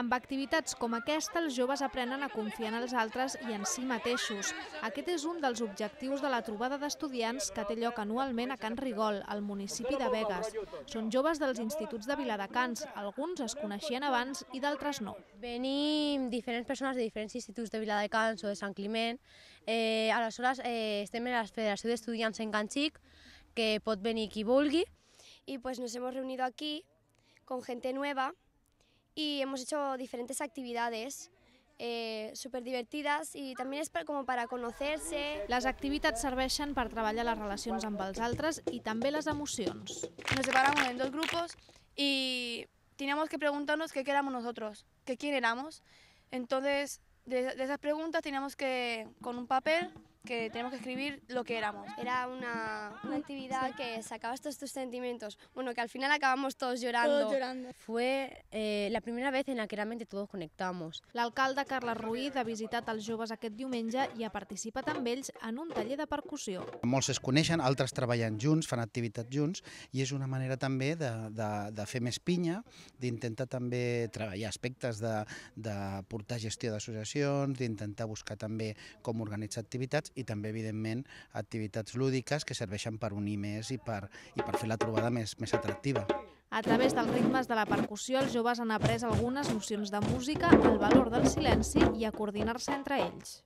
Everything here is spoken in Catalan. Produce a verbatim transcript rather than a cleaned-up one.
Amb activitats com aquesta, els joves aprenen a confiar en els altres i en si mateixos. Aquest és un dels objectius de la trobada d'estudiants que té lloc anualment a Can Rigol, al municipi de Begues. Són joves dels instituts de Viladecans, alguns es coneixien abans i d'altres no. Venim diferents persones de diferents instituts de Viladecans o de Sant Climent. Eh, aleshores, eh, estem en la Federació d'Estudiants en Can Xic, que pot venir qui vulgui. Y pues nos hemos reunido aquí con gente nueva y hemos hecho diferentes actividades eh, súper divertidas y también es para, como para conocerse. Les activitats serveixen per treballar les relacions amb els altres i també les emocions. Nos separamos en dos grupos y teníamos que preguntarnos qué éramos nosotros, que quién éramos. Entonces, de, de esas preguntas teníamos que, con un papel, que tenemos que escribir lo que éramos. Era una, una actividad que sacabas todos tus sentimientos, bueno, que al final acabamos todos llorando. Todos llorando. Fue eh, la primera vez en la que realmente todos conectamos. L'alcalde Carles Ruiz ha visitat els joves aquest diumenge i ha participat amb ells en un taller de percussió. Molts es coneixen, altres treballen junts, fan activitats junts i és una manera també de, de, de fer més pinya, d'intentar també treballar aspectes de, de portar gestió d'associacions, d'intentar buscar també com organitzar activitats i també, evidentment, activitats lúdiques que serveixen per unir més i per, i per fer la trobada més, més atractiva. A través dels ritmes de la percussió, els joves han après algunes nocions de música, el valor del silenci i a coordinar-se entre ells.